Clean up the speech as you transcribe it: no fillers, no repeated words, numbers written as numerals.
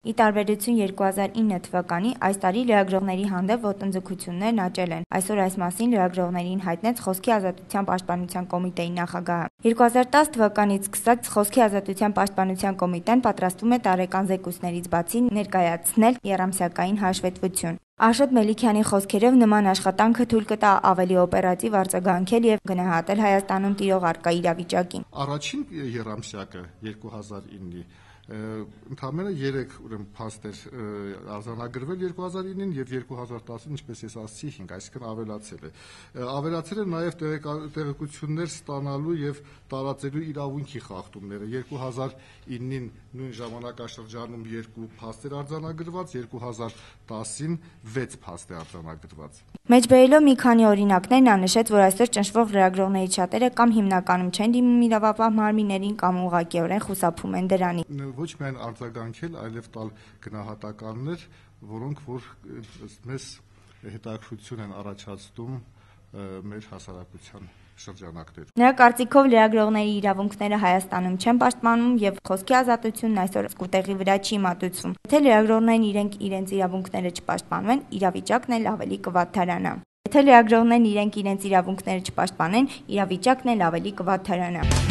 Ի տարբերություն 2009 թվականի, այս տարի լրագրողների հանդեպ ոտնձգություններն աճել են։ Այսօր այս մասին լրագրողներին հայտնեց Խոսքի ազատության պաշտպանության կոմիտեի նախագահը։ 2010 թվականից սկսած Խոսքի ազատության պաշտպանության կոմիտեն պատրաստվում է տարեկան զեկույցներից բացի ներկայացնել եռամսյակային հաշվետվություն։ Աշոտ Մելիքյանի խոսքերով նման աշխատանքը թույլ կտա ավելի օպերատիվ արձագանքել եւ գնահատել Հայաստանում տիրող առկա իրավիճակին։ Առաջին եռամսյակը 2009-ի ընդամենը 3 փաստեր արձանագրվել 2009-ին եւ 2010-ին, ինչպես ես ասացի, 5, այսինքն ավելացել է։ Ավելացել է նաեւ տեղեկություններ ստանալու եւ տարածելու իրավունքի խախտումները։ 2009-ին նույն ժամանակաշրջանում 2 փաստեր արձանագրված, 2010-ին 6 փաստ է արձանագրված։ Մեջբերելով մի քանի օրինակներ, նա նշեց, որ այսօր ճնշվող լրագրողներից շատերը կամ հիմնականում չեն դիմում իրավապահ մարմիններին կամ ուղղակիորեն խուսափում են դրանից։ Ոչ միայն արձագանքել, այլև տալ գնահատականներ, որոնք որ մեզ հետաքրքրություն են առաջացնում մեր հասարակության շրջանակներում։ Նրա կարծիքով լրագրողների իրավունքները Հայաստանում չեն պաշտպանվում եւ խոսքի ազատությունն այսօր սկուտեղի վրա չի մատուցվում։ Եթե լրագրողներն իրենց իրավունքները չպաշտպանվեն, իրավիճակն էլ ավելի կվատթարանա։ Եթե լրագրողներն իրենց իրավունքները չպաշտպանեն, իրավիճակն էլ ավելի կվատթարանա։